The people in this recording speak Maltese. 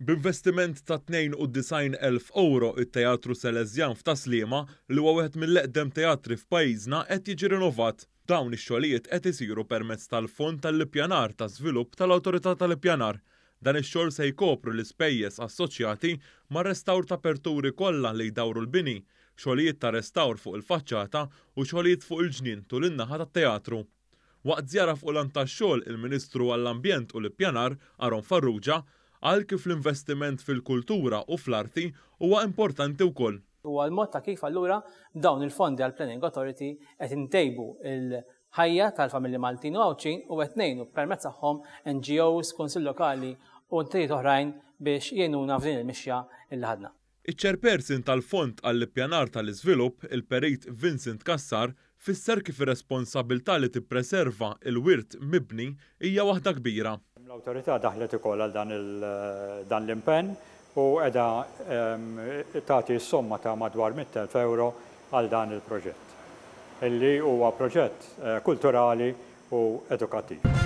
B'investiment ta' 92,000 ewro, it-Teatru Salesjan f'Tas-Sliema, li huwa wieħed mill-eqdem teatri f'pajjiżna, qed jiġi rinovat. Dawn ix-xogħlijiet qed isiru permezz tal-Fond tal-Ippjanar ta' Żvilupp tal-Awtorità tal-Ippjanar. Dan ix-xogħol se jkopri l-ispejjeż assoċjati mar-restawr ta' aperturi kollha li jdawru l-bini, xogħlijiet ta' restawr fuq il-faċċata u xogħlijiet fuq il-ġnien tul in-naħa tat-teatru. Waqt żjara fuq lant tax-xogħol, il-Ministru għall-Ambjent u l-Ippjanar, Aaron Farrugia, qal kif l-investiment fil-kultura u fl-arti huwa importanti wkoll. Huwa l-mod ta' kif allura b'dawn il-fondi għall-Planning Authority qed intejbu l-ħajja tal-familji Maltin u Għawdxin u qed ngħinu permezz tagħhom NGOs, Kunsill Lokali u entitajiet oħrajn biex jgħinuna f'din il-mixja li ħadna. Iċ-Chairperson tal-Fond għall-Ippjanar tal-Iżvilupp, il-Perit Vincent Cassar, fisser kif ir-responsabbiltà li tippreserva l-wirt mibni hija waħda kbira. L-Awtorità daħlet ukoll għal dan dan l-impenn u qiegħda tagħti s-somma ta' madwar 100,000 ewro għal dan il-proġett, illi huwa proġett kulturali u edukattiv.